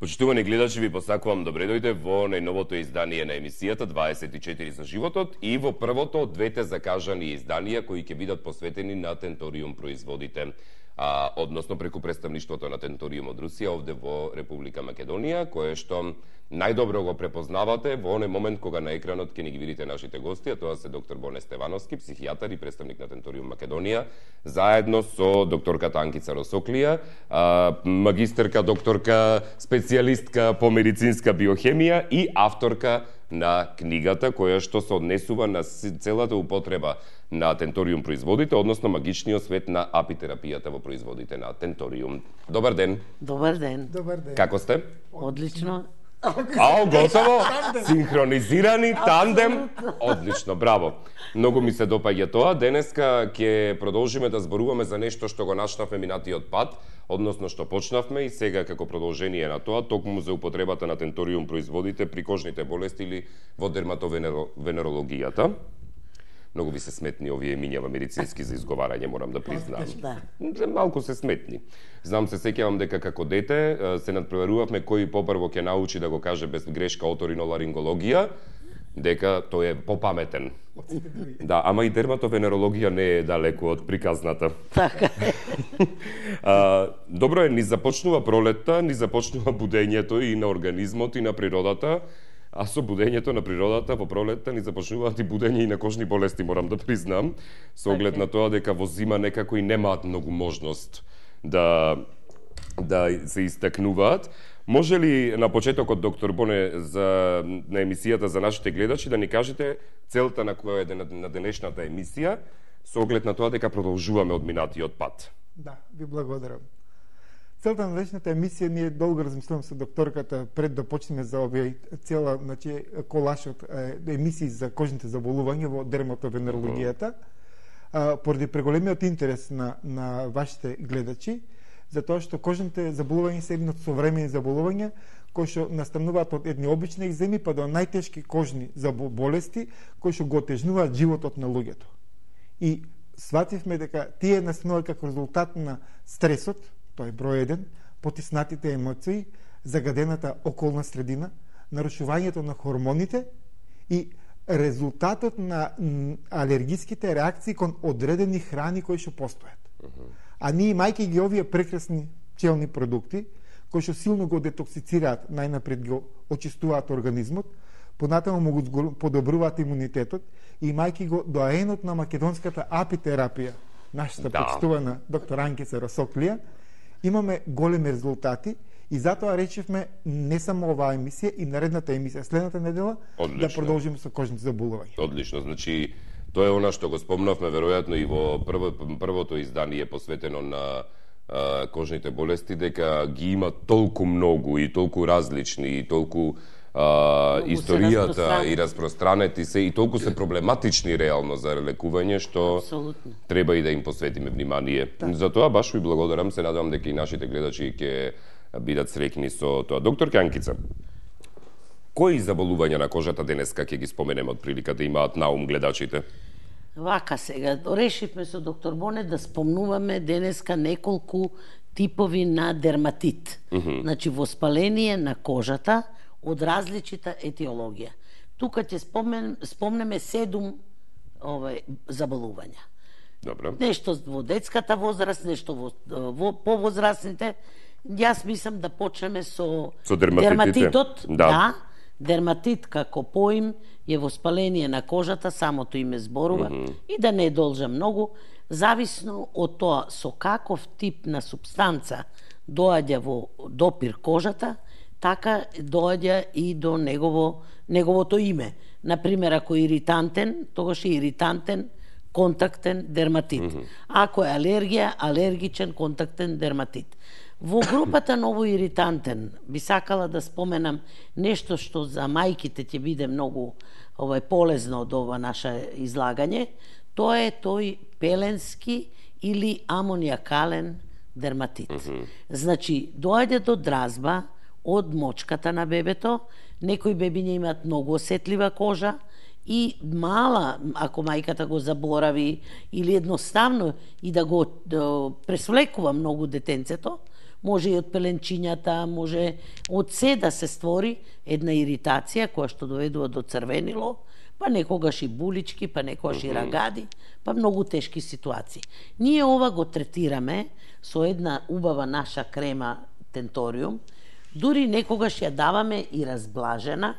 Почитувани гледачи, ви посакувам добре дојде во најновото издание на емисијата 24 за животот и во првото од двете закажани изданија кои ќе бидат посветени на Тенториум производите, односно преку представништвото на Тенториум од Русија овде во Република Македонија, кое што најдобро го препознавате во оној момент кога на екранот ќе ни ги видите нашите гости, а тоа се доктор Боне Стевановски, психијатар и представник на Тенториум Македонија, заедно со докторката Анкица Росоклија, магистерка, докторка, специјалистка по медицинска биохемија и авторка на книгата која што се однесува на целата употреба на Тенториум производите, односно магичниот свет на апитерапијата во производите на Тенториум. Добар ден. Добар ден. Добар ден. Како сте? Одлично. Готово! Синхронизирани, тандем. Одлично, браво. Многу ми се допаѓа тоа. Денеска ќе продолжиме да зборуваме за нешто што го начнавме минатиот пат, односно што почнавме и сега како продолжение на тоа, токму за употребата на Тенториум производите при кожните болести или во дерматовенерологијата. Многу ви се сметни овие имињава медицински за изговарање, морам да признам. Да. Малку се сметни. Знам, се сеќавам дека како дете се надпреварувавме кој попрво ќе научи да го каже без грешка оториноларингологија, дека тој е попаметен. Да, ама и дерматовенерологија не е далеку од приказната. Така е. Добро е, ни започнува пролетта, ни започнува будењето и на организмот и на природата. А со будењето на природата во пролетта ни започнуваат и будење и на кожни болести, морам да признам, со оглед на тоа дека во зима некако и немаат многу можност да се истакнуваат. Може ли на почетокот, доктор Боне, на емисијата за нашите гледачи да ни кажете целта на која е на денешната емисија, со оглед на тоа дека продолжуваме од минатиот пат? Да, ви благодарам. Целта на денешната емисија, ние долго размислувам со докторката пред да почнеме за овие цела, колаш од емисии за кожните заболувања во дерматовенерологијата, поради преголемиот интерес на вашите гледачи, затоа што кожните заболувања се едни од современи заболувања кои што настануваат од едни обични екземи па до најтешки кожни болести кои што го отежнуваат животот на луѓето. И свативме дека тие настануваат како резултат на стресот, тоа е број 1, потиснатите емоции, загадената околна средина, нарушувањето на хормоните и резултатот на алергиските реакции кон одредени храни кои што постојат. А ние, имајќи ги овие прекрасни пчелни продукти, кои што силно го детоксицираат, најнапред го очистуваат организмот, понатаму му го подобруваат имунитетот, и имајќи го доаенот на македонската апитерапија, нашата почитувана доктор Анкица Росоклија, имаме големи резултати и затоа речевме не само оваа емисија и наредната емисија следната недела да продолжиме со кожните заболувања. Одлично, значи тоа е она што го спомнавме веројатно и во првото издание посветено на кожните болести, дека ги има толку многу и толку различни и толку историјата и распространети се и толку се проблематични реално за лекување што треба и да им посветиме внимание. Затоа баш ви благодарам, се надевам дека и нашите гледачи ќе бидат среќни со тоа. Доктор Анкица, кои заболувања на кожата денеска ќе ги споменеме од прилика да имаат на ум гледачите? Вака сега, решивме со доктор Боне да спомнуваме денеска неколку типови на дерматит. Значи воспаление на кожата од различита етиологија. Тука ќе спомнеме 7 заболувања. Добро. Нешто во детската возраст, нешто во повозрастните. Јас мислам да почнеме со дерматитот. Да, дерматит како поим е воспаление на кожата, самото име зборува, и да не должа многу, зависно од тоа со каков тип на супстанца доаѓа во допир кожата, така доаѓа и до неговото име. Например, ако е иритантен, тогаш е иритантен контактен дерматит. Ако е алергија, алергичен контактен дерматит. Во групата новоиритантен би сакала да споменам нешто што за мајките ќе биде многу полезно од ова наше излагање. Тоа е тој пеленски или амониакален дерматит. Значи, доаѓа до дразба од мочката на бебето, некои бебиња имаат многу осетлива кожа и мала, ако мајката го заборави или едноставно и да го пресвлекува многу детенцето, може и од пеленчињата, може од се да се створи една иритација која што доведува до црвенило, па некогаш и булички, па некогаш и рагади, па многу тешки ситуации. Ние ова го третираме со една убава наша крема Тенториум, дури некогаш ја даваме и разблажена,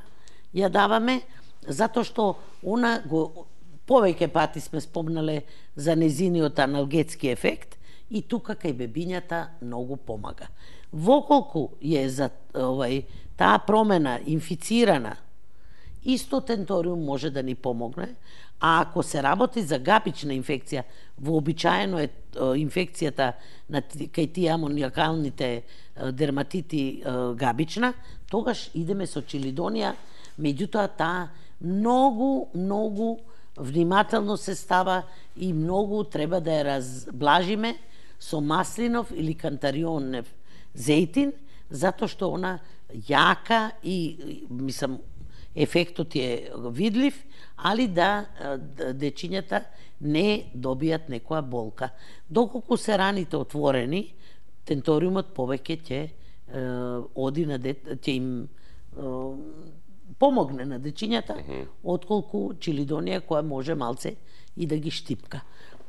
ја даваме, затоа што она го повеќе пати сме спомнале за незиниот аналгетски ефект и тука кај бебињата многу помага. Воколку е за таа промена инфицирана, исто Тенториум може да ни помогне, а ако се работи за габична инфекција, вообичаено е инфекцијата кај тие амониакалните дерматити габична, тогаш идеме со чилидонија, меѓутоа таа многу внимателно се става и многу треба да ја разблажиме со маслинов или кантарионев зејтин, затоа што она јака и, мислам, ефектот е видлив, али да дечињата не добијат некоја болка. Доколку се раните отворени, Тенториумот повеќе ќе оди на ќе им помогне на дечињата, отколку чилидонија која може малце и да ги штипка.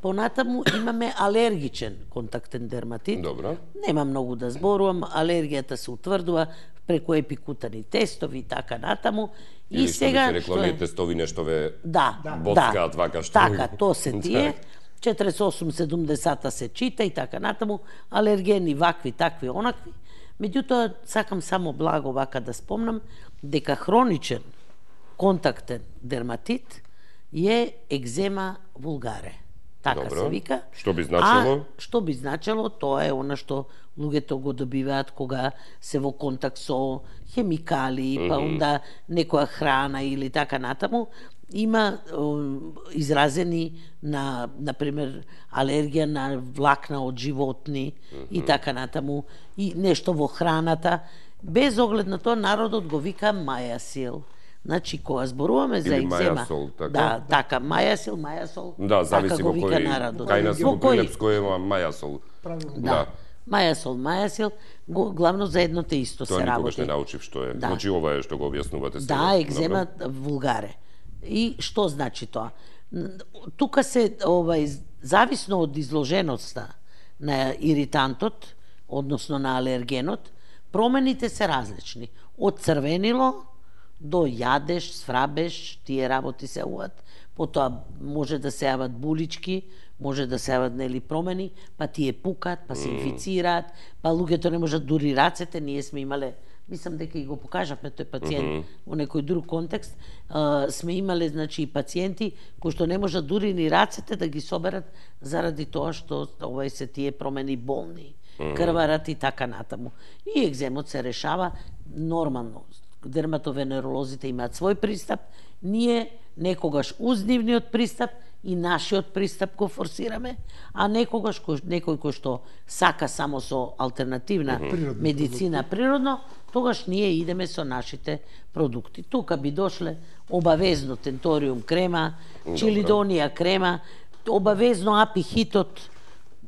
Понатаму имаме алергичен контактен дерматит. Добро. Нема многу да зборувам, алергијата се утврдува преку епикутани тестови и така натаму. Или сега што би се реклами тестови нешто ве боцкаат вака што. Така, то се тие. 48-70 се чита и така натаму, алергени вакви, такви, онакви. Меѓутоа, сакам само благо вака да спомнам, дека хроничен контактен дерматит е екзема вулгаре. Така Добро. се вика. Што би значило? Што би значило, тоа е она што луѓето го добиваат кога се во контакт со хемикали, па онда некоја храна или така натаму. Има изразени на пример алергија на влакна од животни и така натаму, и нешто во храната. Без оглед на тоа народот го вика мајасил. Значи, кога зборуваме за екзема, мајасол, така? Да, така, мајасил, да, зависи во кој, кај нас во Прилепско има мајасол. Да. Мајасил, главно за едно те исто се работи. Тоа никогаш не научив што е. Да. Значи, ова е што го објаснувате сега. Да, екзема вулгаре. И што значи тоа? Тука се, зависно од изложеноста на иритантот, односно на алергенот, промените се различни. Од црвенило до јадеш, сфрабеш, тие работи се јават, потоа може да се јават булички, може да се јават нели промени, па тие пукат, па се инфицираат, па луѓето не можат дури рацете, ние сме имале, мислам дека и го покажавме тој пациент во некој друг контекст, сме имале значи и пациенти кои што не можат дури ни рацете да ги соберат заради тоа што се тие промени болни, крварат и така натаму. И екземот се решава нормално. Дерматовенеролозите имаат свој пристап, ние некогаш уз нивниот пристап и нашиот пристап го форсираме, а некогаш некој кој што сака само со алтернативна медицина природно, тогаш ние идеме со нашите продукти. Тука би дошле обавезно Тенториум крема, чилидонија крема, обавезно апихитот.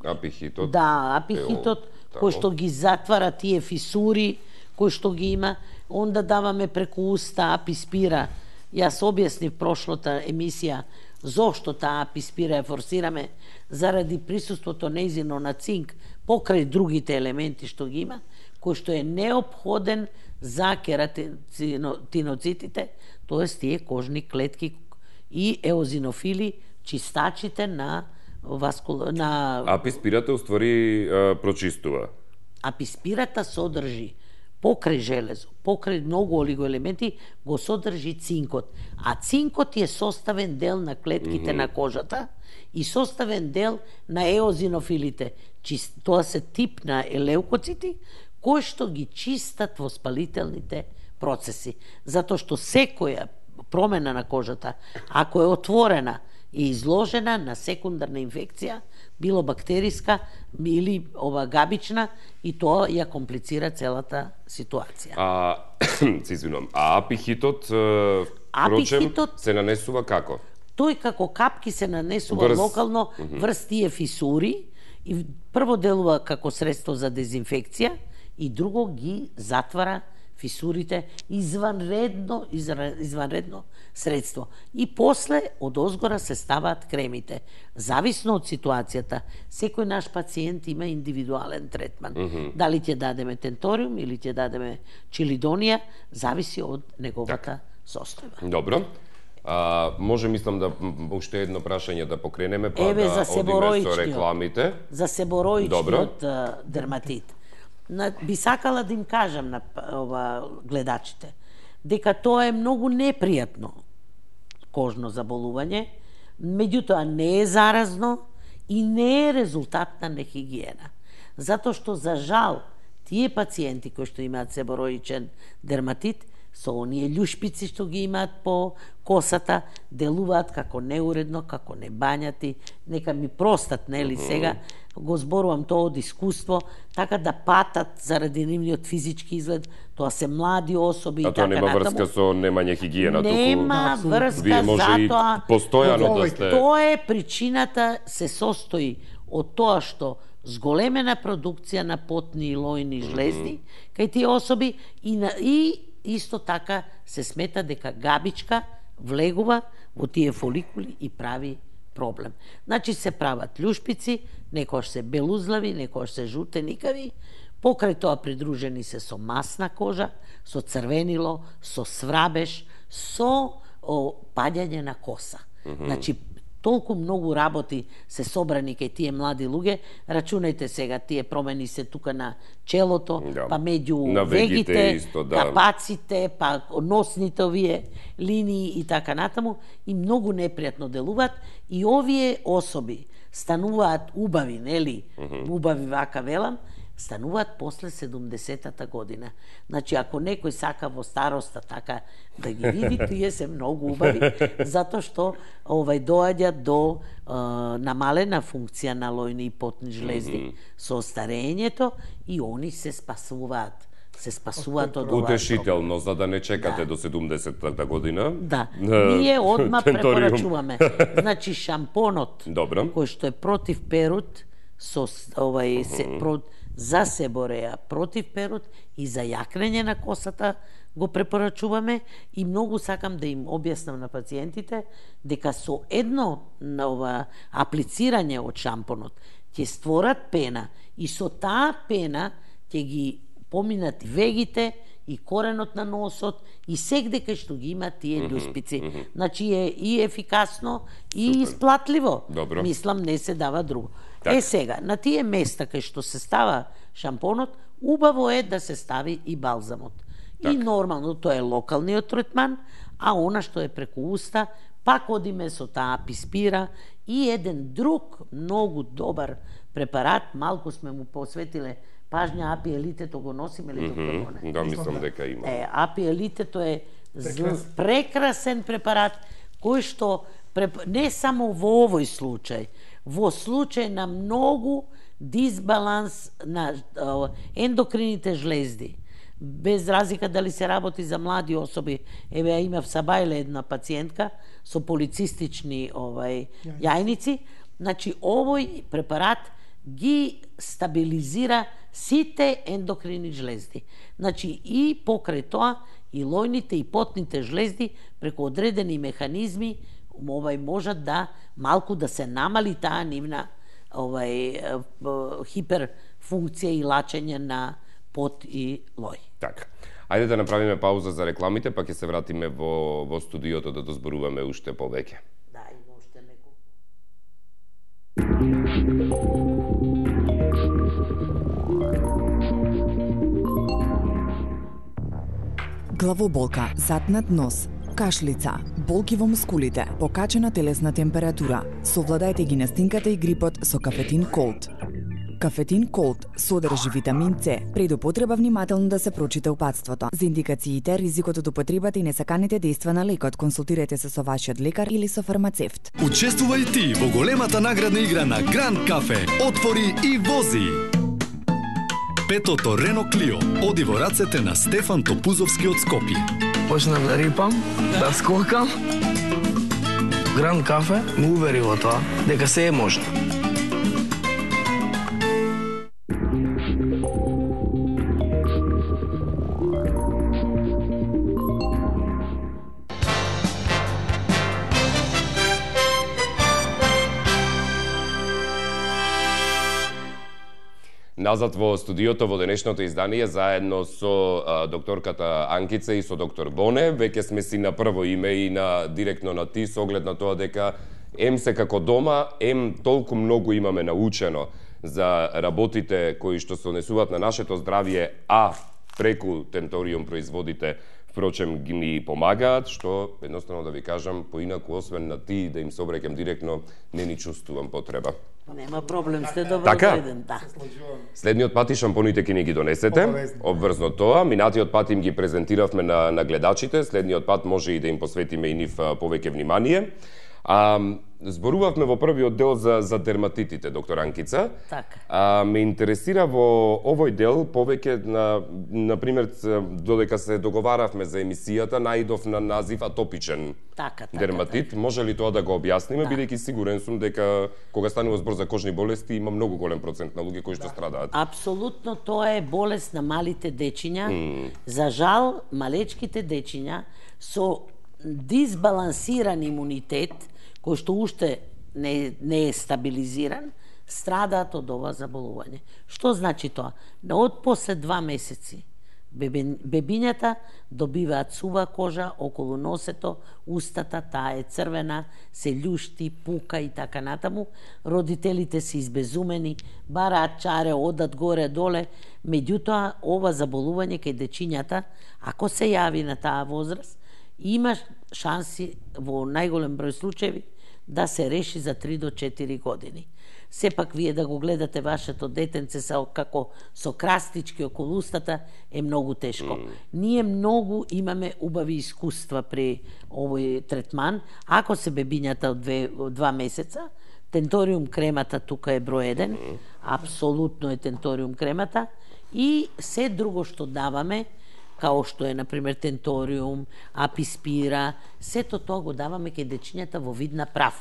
Апихитот? Да, апихитот, кој што ги затвара тие фисури, кој што ги има. Онда даваме преку уста аписпира. Јас објаснив прошлата емисија зошто таа аписпира ја форсираме, заради присуството нејзино на цинк покрај другите елементи што ги има, кој што е неопходен за кератиноцитите, тоест тие кожни клетки и еозинофили, чистачите на Аписпирата уствари прочистува. Аписпирата содржи покрај железо, покрај многу олигоелементи, го содржи цинкот. А цинкот е составен дел на клетките на кожата и составен дел на еозинофилите. Тоа се тип на елеукоцити, кои што ги чистат воспалителните процеси. Затоа што секоја промена на кожата, ако е отворена и изложена на секундарна инфекција, било бактериска или габична, и тоа ја комплицира целата ситуација. Апихитот, впрочем, се нанесува како? Тој како капки се нанесува локално врз тие фисури И прво делува како средство за дезинфекција и друго ги затвара фисурите, изванредно средство. И после од озгора се ставаат кремите. Зависно од ситуацијата, секој наш пациент има индивидуален третман. Дали ќе дадеме тенториум или ќе дадеме чилидонија, зависи од неговата состојба. Добро. Може, мислам, да уште едно прашање да покренеме, па да одиме со рекламите. За себороичниот дерматит. Би сакала да им кажам на гледачите дека тоа е многу непријатно кожно заболување, меѓутоа не е заразно и не е резултат на нехигиена. Затоа што, за жал, тие пациенти кои што имаат себороичен дерматит, со оние љушпици што ги имаат по косата, делуваат како неуредно, како небањати. Нека ми простат, нели, сега го зборувам тоа од искуство, така да патат заради нивниот физички изглед, тоа се млади особи и така натаму. А тоа нема врска со немање хигиена, нема врска, вие може и постојано да сте. Тоа е причината, се состои од тоа што зголемена продукција на потни и лојни жлезди кај тие особи и исто така се смета дека габичка влегува во тие фоликули и прави проблем. Значи се прават љушпици, некојаш се белузлави, некојаш се жутеникави, покрај тоа придружени се со масна кожа, со црвенило, со сврабеж, со паѓање на коса. Значи, толку многу работи се собрани кај тие млади луѓе. Рачунајте сега, тие промени се тука на челото, па меѓу вегите, капаците, па носните овие линии и така натаму, и многу непријатно делуваат. И овие особи стануваат убави, нели? Убави, вака велам, стануваат после 70-та година. Значи, ако некој сака во староста така да ги види, тие се многу убави, затоа што доаѓа до намалена функција на лојни и потни жлезди со старењето и они се спасуваат. Од ова. Утешително, за да не чекате до 70-та година. Да, ние одма препорачуваме. Значи, шампонот, кој што е против перут, со за себореја против перут и за јакнење на косата го препорачуваме, и многу сакам да им објаснам на пациентите дека со едно аплицирање од шампонот ќе створат пена и со таа пена ќе ги поминат вегите и коренот на носот и сегде кај што ги има тие љуспици. Значи е и ефикасно и исплатливо. Мислам, не се дава друго. Сега, на тие места кај што се става шампонот, убаво е да се стави и балзамот. И нормално тоа е локалниот третман, а она што е преку уста, пак одиме со таа аписпира и еден друг многу добар препарат, малку сме му посветиле пажња, апиелитето го носиме ли доктор? Да, мислам дека има. Апиелитето е прекрасен препарат кој што не само во овој случај, во случај на многу дисбаланс на ендокрините жлезди, без разлика дали се работи за млади особи. Еве, ја имав Сабајле една пациентка со полицистични јајници. Значи, овој препарат ги стабилизира сите ендокрини жлезди. Значи, и покрај тоа, и лојните и потните жлезди преку одредени механизми можат да малку да се намали таа нивна хиперфункција и лачење на пот и лој. Така. Ајде да направиме пауза за рекламите, па ќе се вратиме во студиото да дозборуваме уште повеќе. Да, има уште неколку. Главоболка, затнат нос, кашлица, болки во мускулите, покачена телесна температура. Совладајте ги настинката и грипот со Кафетин Колд. Кафетин Колд содржи витамин С. Пред употреба внимателно да се прочита упатството. За индикациите, ризикот од употребата и несаканите дејства на лекот, консултирайте се со вашиот лекар или со фармацевт. Учествувај ти во големата наградна игра на Гранд Кафе. Отвори и вози! Петото Рено Клио оди во рацете на Стефан Топузовски од Скопје. Почнав да рипам, да скокам. Гранд Кафе ме увери во тоа дека се е можно. Назад во студиото во денешното издание заедно со докторката Анкица и со доктор Боне. Веќе сме си на прво име и на директно на ти со оглед на тоа дека ем се како дома, ем толку многу имаме научено за работите кои што се однесуваат на нашето здравје, а преку Tentorium производите впрочем ги ни помагаат, што едноставно да ви кажам, поинаку освен на ти да им се обраќам директно, не ни чувствувам потреба. Нема проблем, сте добро дојден, да. Следниот пат и шампоните ќе ни ги донесете, обврзно тоа. Минатиот пат им ги презентиравме на гледачите, следниот пат може и да им посветиме и нив повеќе внимание. Зборувавме во првиот дел за дерматитите, доктор Анкица. Така. Ме интересира во овој дел повеќе на пример додека се договаравме за емисијата, наидов на назив атопичен дерматит. Може ли тоа да го објасниме, бидејќи сигурен сум дека кога станува збор за кожни болести има многу голем процент на луѓе кои што страдаат. Апсолутно тоа е болест на малите дечиња. За жал, малечките дечиња со дисбалансиран имунитет, кој што уште не е стабилизиран, страдаат од ова заболување. Што значи тоа? Од после 2 месеци бебињата добиваат сува кожа околу носето, устата, таа е црвена, се љушти, пука и така натаму. Родителите се избезумени, бараат чаре, одат горе-доле. Меѓутоа, ова заболување кај дечињата, ако се јави на таа возраст, има шанси во најголем број случаи да се реши за 3 до 4 години. Сепак вие да го гледате вашето детенце како со крастички околу устата е многу тешко. Ние многу имаме убави искуства при овој третман. Ако се бебињата од 2 месеца, Tentorium кремата тука е број 1, апсолутно е Tentorium кремата и се друго што даваме, као што е, например, Tentorium, Аписпира, сето тоа го даваме кај дечињата во вид на прав.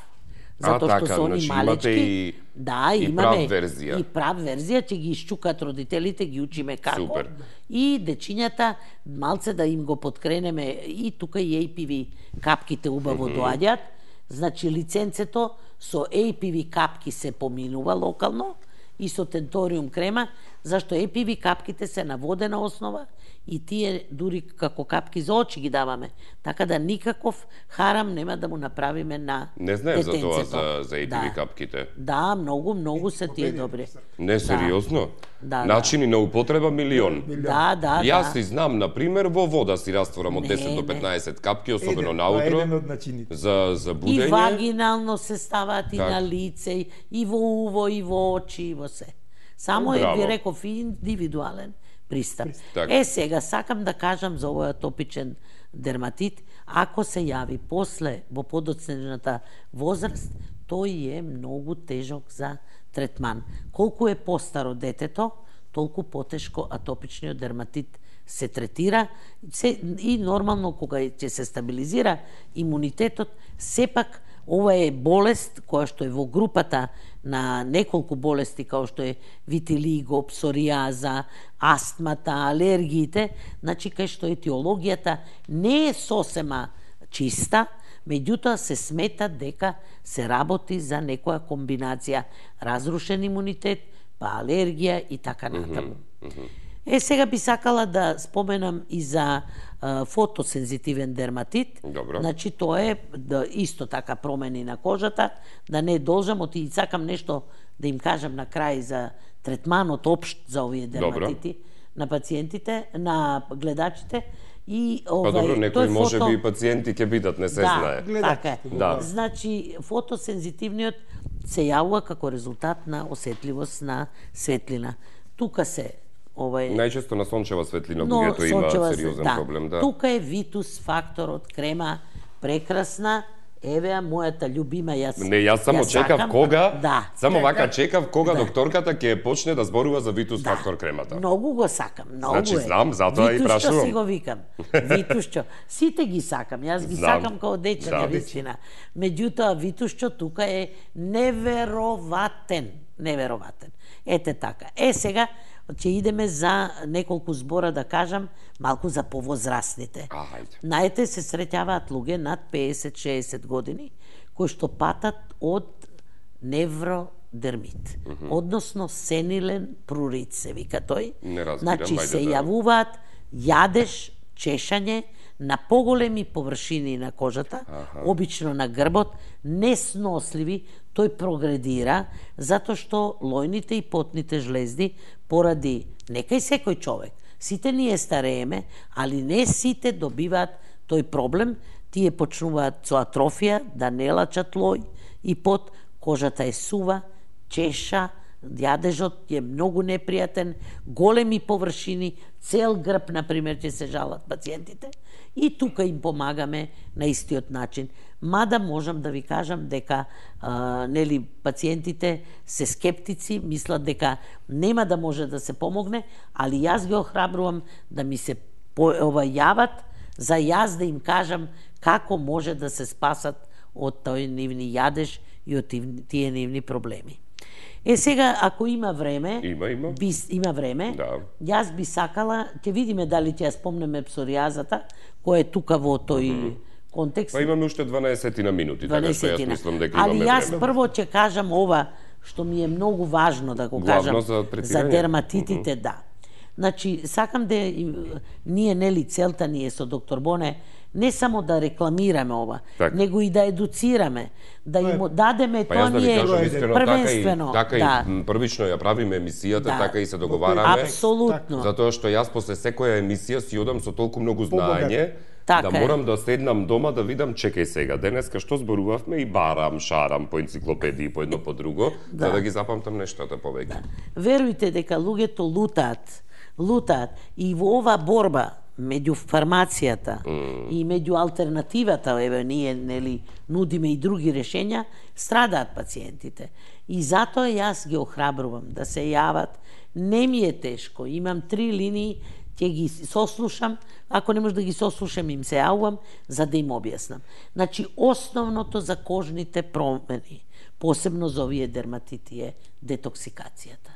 Затоа што се они малечки, и прав верзија. И прав верзија, ќе ги исчукат родителите, ги учиме како. Супер. И дечињата малце да им го подкренеме и тука и APV капките убаво доаѓаат. Значи лиценцето со APV капки се поминува локално и со Tentorium крема, зашто APV капките се на водена основа и тие дури како капки за очи ги даваме. Така да никаков харам нема да му направиме на детенцето. Не знаев за тоа за APV капките. Да, многу се тие добри. Не, сериозно? Начини на употреба милион. Да. Јас си знам, например, во вода си растворам од 10 до 15 капки, особено наутро, за будење. И вагинално се ставаат и на лице, и во уво, и во очи, и во се. Само е, ви реков, индивидуален пристап. Сега сакам да кажам за овој атопичен дерматит, ако се јави после во подоцнежната возраст, тој е многу тежок за третман. Колку е постаро детето, толку потешко атопичниот дерматит се третира и нормално кога ќе се стабилизира имунитетот, сепак ова е болест која што е во групата на неколку болести, као што е витилиго, псоријаза, астмата, алергиите, значи кај што етиологијата не е сосема чиста, меѓутоа се смета дека се работи за некоја комбинација разрушен имунитет, па алергија и така натаму. Сега би сакала да споменам и за фотосензитивен дерматит. Добро. Значи тоа е исто така промени на кожата, да не должам, и сакам нешто да им кажам на крај за третманот општ за овие дерматити. Добро. На пациентите, на гледачите. И па добро, некои може би пациенти ќе бидат, не се знае. Така е. Значи, фотосензитивниот се јавува како резултат на осетливост на светлина. Тука се најчесто на сончева светлина луѓето има сериозен проблем, да. Тука е Витус факторот крема, прекрасна. Еве мојата љубима, јас само чекав кога, само вака чекав кога докторката ќе почне да зборува за Витус фактор кремата. Многу го сакам, многу значи, знам, затоа и прашувам. Витушчо си го викам. Витушчо. Сите ги сакам, јас ги сакам као дече на вистина. Меѓутоа Витушчо тука е невероватен. Ете така. Сега ќе идеме за неколку збора да кажам малку за повозрастните. Наете се среќаваат луѓе над 50-60 години кои што патат од дермит, односно сенилен прурит се вика тој. Не разбирам, значи се јавуваат јадеж, чешање на поголеми површини на кожата, обично на грбот, несносливи, тој прогредира затоа што лојните и потните жлезди поради некај секој човек. Сите ние старееме, али не сите добиваат тој проблем, тие почнуваат со атрофија да не лачат лој и пот, кожата е сува, чеша, јадежот е многу непријатен, големи површини, цел грб, например, ќе се жалат пациентите, и тука им помагаме на истиот начин. Мада можам да ви кажам дека нели пациентите се скептици, мислат дека нема да може да се помогне, али јас ги охрабрувам да ми се јават за јас да им кажам како може да се спасат од тој нивни јадеж и од тие нивни проблеми. Сега, ако има време, има време, да. Јас би сакала, ќе видиме дали ќе ја спомнеме псоријазата, која е тука во тој контекст. Па имаме уште 12 на минути, така што јас мислам дека имаме време. Али јас прво ќе кажам ова, што ми е многу важно да го кажам за дерматитите, да. Значи, сакам да ние нели целта ние со доктор Боне не само да рекламираме ова, него и да едуцираме, да им дадеме тоа ние првенствено. Така и првично ја правиме емисијата, така и се договараме. Апсолутно. Затоа што јас после секоја емисија си одам со толку многу знаење, да морам да седнам дома да видам, чекај сега, денеска што зборувавме и барам, шарам по енциклопедии, по едно по друго, за да ги запамтам нештата повеќе. Верујте дека луѓето лутаат и во оваа борба меѓу фармацијата и меѓу алтернативата, еве ние нели нудиме и други решења, страдаат пациентите. И затоа јас ги охрабрувам да се јават. Не ми е тешко, имам 3 линии, ќе ги сослушам, ако не може да ги сослушам, им се јавувам за да им објаснам. Значи, основното за кожните промени, посебно за овие дерматити, е детоксикацијата.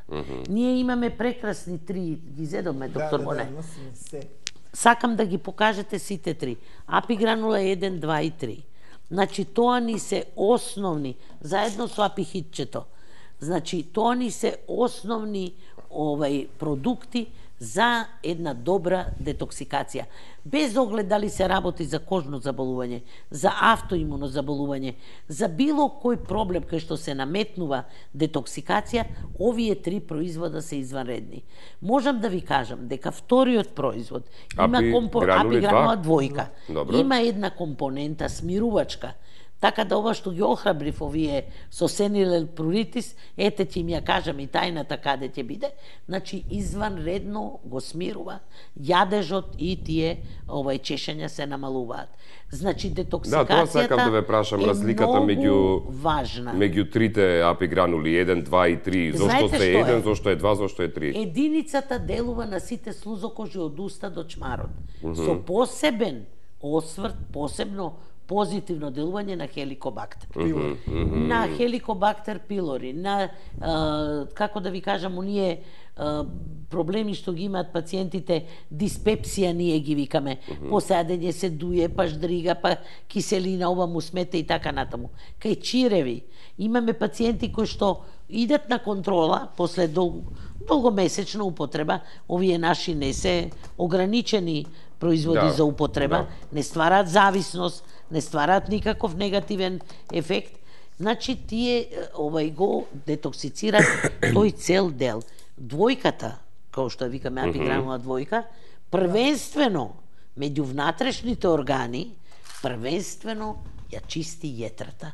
Ние имаме прекрасни 3, ги зедоме, доктор Боне. Сакам да ги покажете сите 3. Апигранула 1, 2 и 3. Значи, тоа ни се основни, заедно со апихитчето. Значи, тоа ни се основни продукти за една добра детоксикација. Без оглед дали се работи за кожно заболување, за автоимуно заболување, за било кој проблем кај што се наметнува детоксикација, овие 3 производа се изванредни. Можам да ви кажам дека вториот производ има апигранула 2. Има една компонента смирувачка. Така да ова што ги охрабрив овие со сенилен пруритис, ете ќе им ја кажам и тајната каде ќе биде, значи изванредно го смирува, јадежот и тие чешања се намалуваат. Значи детоксикацијата да ве прашам, разликата важна. Меѓу трите апигранули 1, 2 и 3, зошто се 1, зошто е 2, зошто е 3? Единицата делува на сите слузокожи од уста до чмарот. Со посебен осврт, посебно позитивно делување на хеликобактер. На хеликобактер пилори, на, како да ви кажам, оние проблеми што ги имаат пациентите, диспепсија ние ги викаме, посадење се дуе, па ждрига, па киселина, ова му смете и така натаму. Кај чиреви, имаме пациенти кои што идат на контрола после долгомесечна употреба, овие наши не се ограничени производи за употреба, не ствараат зависност, не ствараат никаков негативен ефект, значи тие го детоксицираат тој цел дел. Двојката, како што викаме апигранула 2, првенствено меѓу внатрешните органи, првенствено ја чисти јетрата.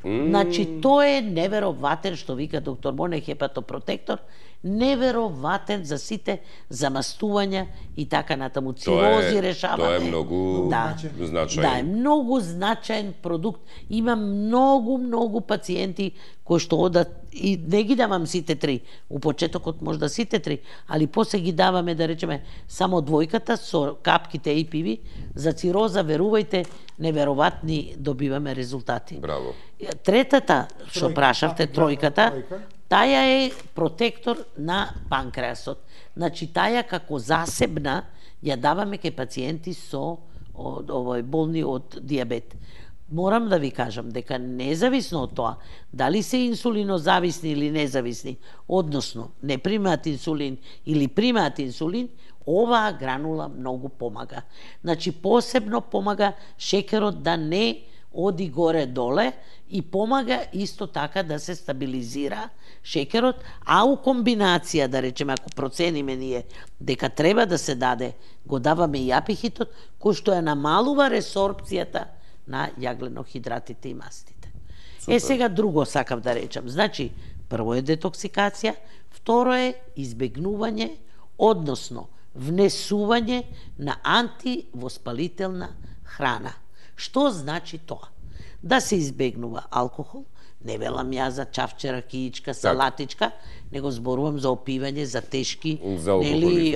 Значи, тоа е невероватен, што вика доктор Боне, хепатопротектор, невероватен за сите замастувања и така натаму, цирози решаваме. Тоа е многу значаен. Да, е многу значаен продукт. Има многу пациенти кои што одат, и не ги давам сите 3, у почетокот можда сите 3, али после ги даваме, да речеме, само 2 со капките APV, за цироза, верувајте, невероvatни добиваме резултати. Браво. Третата, што прашавте, 3, таја е протектор на панкреасот. Значи, таја како засебна ја даваме кај пациенти со болни од диабет. морам да ви кажам дека независно од тоа дали се инсулинозависни или независни, односно не примаат инсулин или примаат инсулин, оваа гранула многу помага. Значи посебно помага шекерот да не оди горе-доле и помага исто така да се стабилизира шекерот, а у комбинација, да речеме, ако процениме ние дека треба да се даде, го даваме и апихитот, кој што ја намалува ресорбцијата на јагленохидратите и мастите. Супер. Сега друго сакав да речам. Значи, прво е детоксикација, второ е избегнување, односно внесување на антивоспалителна храна. Што значи тоа? Да се избегнува алкохол, не велам ја за чавче, ракиичка, салатичка, него зборувам за опивање, за тешки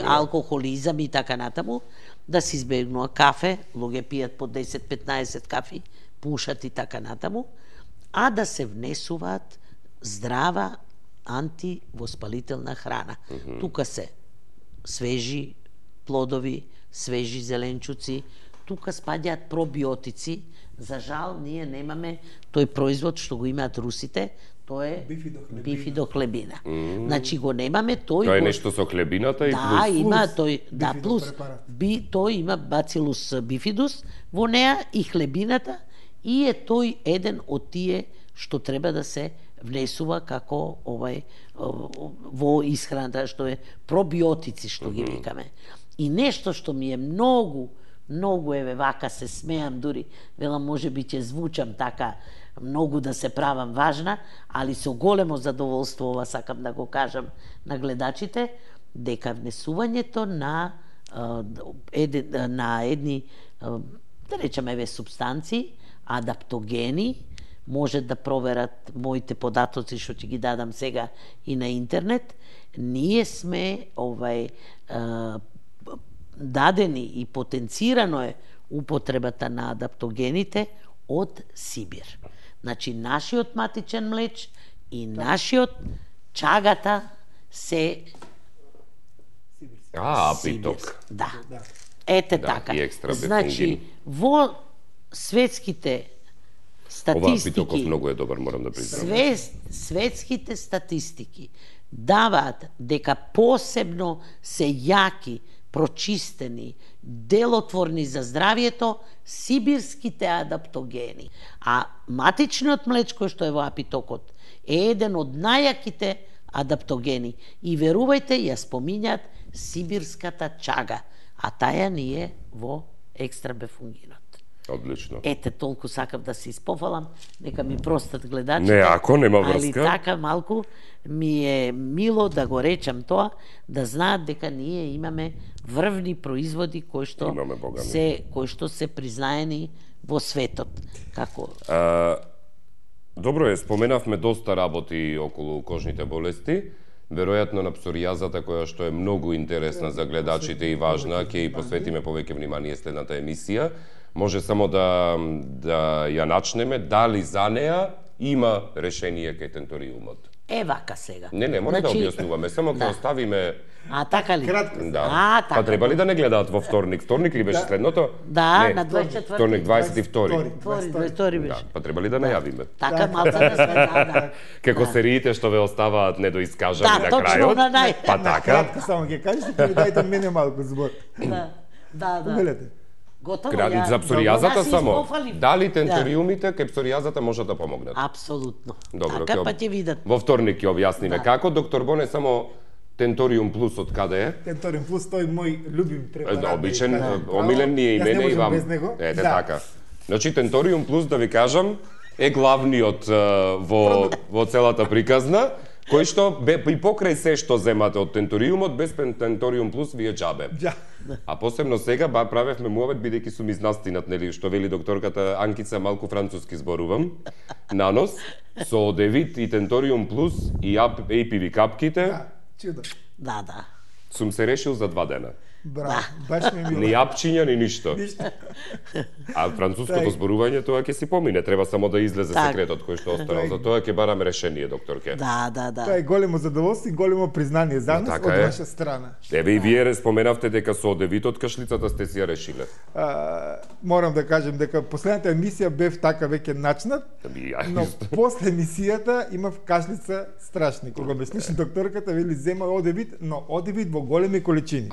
алкохолизам и така натаму, да се избегнува кафе, луѓе пијат по 10-15 кафи, пушат и така натаму, а да се внесуваат здрава антивоспалителна храна. Тука се свежи плодови, свежи зеленчуци, тука спаѓаат пробиотици. За жал, ние немаме тој производ што го имаат русите, тоа е бифидохлебина. Значи го немаме тој. Тоа е нешто со хлебината и плюс. Да, има тој, да, плюс. Тој има бацилус бифидус во неа и хлебината и е тој еден од тие што треба да се внесува како во исхраната, што е пробиотици, што ги викаме. И нешто што ми е многу, еве вака се смеам дури, велам може би ќе звучам така многу да се правам важна, али со големо задоволство ова сакам да го кажам на гледачите, дека внесувањето на едни, да речеме, еве субстанции, адаптогени, може да проверат моите податоци што ќе ги дадам сега и на интернет. Ние сме дадени и потенцирано е употребата на адаптогените од Сибир. Значи, нашиот матичен млеч и нашиот чагата се апиток. Да. Ете така. Значи, во светските статистики... Ова апитоков многу е добар, морам да признам. Светските статистики даваат дека посебно се јаки, прочистени, делотворни за здравието сибирските адаптогени. А матичниот млеч кој што е во апитокот е еден од најаките адаптогени. И верувајте, ја спомињаат сибирската чага, а таја ни е во екстрабефунгинот. Одлично. Ете, толку сакав да се испофалам, нека ми простат гледачите. Не, ако нема врска. Али така малку ми е мило да го речам тоа, да знаат дека ние имаме врвни производи кои што се признаени во светот. Како? Добро е, споменавме доста работи околу кожните болести. Веројатно на псоријазата, која што е многу интересна за гледачите и важна, ќе и посветиме повеќе внимание следната емисија. Може само да ја начнеме, дали за неа има решение кај тенториумот? Вака сега. Не, мора да објаснуваме, само ќе оставиме... така ли? Да. Така. Па треба ли да не гледаат во вторник? Вторник ли беше следното? Да, на 24. Вторник 22. 22 беше. Па треба ли да најавиме? Така малку да сме, да. Како сериите што ве оставаат недоискажани на крајот. Да, точно на нај. Па така. Само ќе кажете, ќе дајте мене малку збор. Да. Готово, за псоријазата само. Дали тенториумите кај псоријазата можат да помогнат? Апсолутно. Добро, така па ќе видат. Во вторник ќе објасниме како. Доктор Боне, само Тенториум Плюс од каде е? Тенториум Плюс, тој мој любим препарат. Обичен, омилен ни е и мене и вам. Ете така. Значи Тенториум Плюс, да ви кажам, е главниот во целата приказна, кој што и покрај се што земате од Тенториумот, без Тенториум Плюс ви е џабе. А посебно сега правевме муавет, бидејќи сум изнастинат, нели, што вели докторката Анкица, малку француски зборувам, на нос, со одевит и Тенториум Плюс и APV капките. Чудо. Да. Сум се решил за 2 дена. Браво, баш ми е мило. Ни јапчиња, ни ништо. А француското зборување тоа ќе си помине, треба само да излезе секретот кој што останал. За тоа ќе бараме решение, докторке. Да. Тоа е големо задоволство и големо признание за нас од ваша страна. Еве и вие споменавте дека со одевитот кашлицата сте си ја решиле. Морам да кажем дека последната емисија бев така веќе начнат, но после емисијата имав кашлица страшни. Кога ме слушна докторката, вели зема одевит, но одевит во големи количини.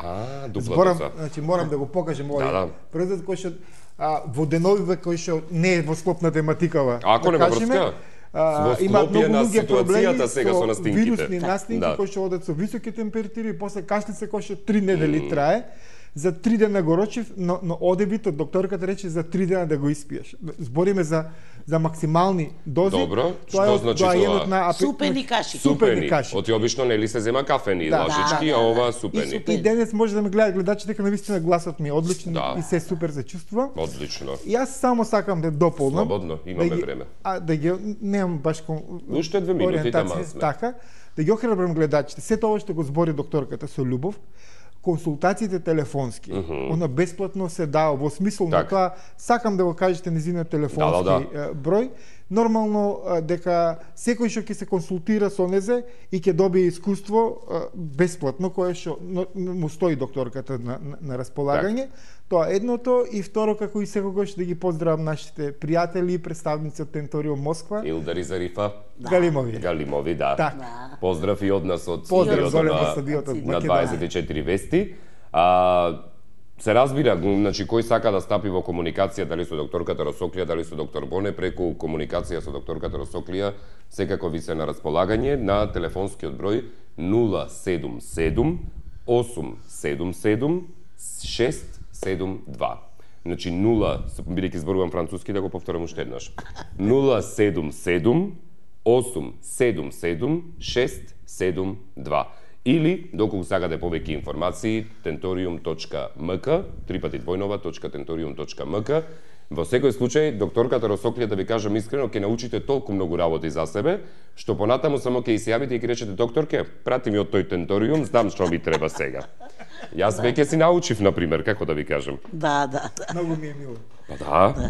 Значи морам да го покажем овој производ кој што во деновиве кој што не е во склоп на тематикава. Ако нема врска, има многу луѓе проблеми сега со настинките. Вирусни настинки кои што одат со високи температури и после кашлица кој што 3 недели трае. За 3 дена го рочив, но одевитот докторката рече за 3 дена да го испиеш. Збориме за максимални дози. Добро, што значи тоа? Супени каши. Супени каши. Оти обично нели се зема кафени лашички, а ова супени. И денес може да ме гледаат гледачи дека навистина гласот ми е одличен и се супер се чувствува. Одлично. И јас само сакам да дополнам. Слободно, имаме време. Да ги немам баш уште 2 минути таман сме. Така, да ги охрабрам гледачите. Сето ова што го збори докторката со љубов, консултациите телефонски, она бесплатно се дава во смисол на тоа, сакам да го кажете незиниот телефонски број, нормално дека секој што ќе се консултира со незе и ќе добие искуство бесплатно кое што му стои докторката на располагање. Тоа едното и второ, како и секогаш да ги поздравам нашите пријатели и представници од Тенториум Москва. Илдар и Зарифа. Галимови, да. Поздрав и од нас од студиото на 24 вести. Се разбира, значи кој сака да стапи во комуникација, дали со докторката Росоклија, дали со доктор Боне, преку комуникација со докторката Росоклија, секако ви се на располагање на телефонскиот број 077 877 672. Значи 0, бидејќи зборувам француски, да го повторам уште еднаш. 077 877 672. Или, доколку сакате повеќе информации, tentorium.mk, tentorium.mk. Во секој случај, докторката Росоклија, да ви кажам искрено, ќе научите толку многу работи за себе, што понатаму само ќе се јавите и ќе речете: докторке, прати ми од тој Tentorium, знам што ми треба сега. Јас веќе си научив, например, како да ви кажам. Да. Многу ми е мило.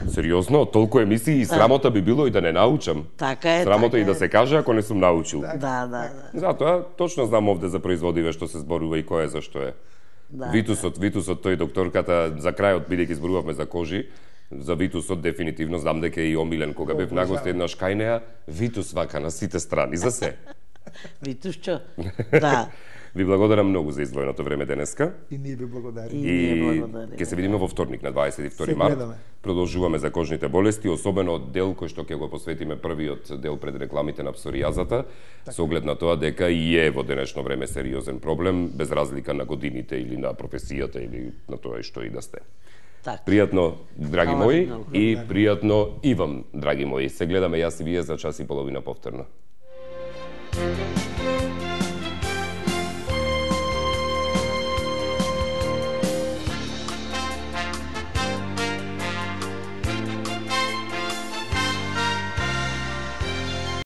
Сериозно, толку емисии и срамота би било и да не научам. Така е. Срамота и да се каже ако не сум научил. Да. Затоа точно знам овде за производиве што се зборува и кој е зашто е. Витусот тој докторката за крајот, бидејќи зборувавме за кожи, за Витусот дефинитивно знам дека е и омилен кога бев на гости еднаш кај неа. Витус вака на сите страни за се. Витусчо. Да. Ви благодарам многу за издвоеното време денеска. И ние ви благодариме. И ќе се видиме во вторник на 22 март. Продолжуваме за кожните болести, особено дел кој што ќе го посветиме првиот дел пред рекламите на псоријазата, со оглед на тоа дека и е во денешно време сериозен проблем, без разлика на годините или на професијата или на тоа што и да сте. Пријатно, драги мои, и пријатно и вам, драги мои. Се гледаме јас и вие за час и половина повторно.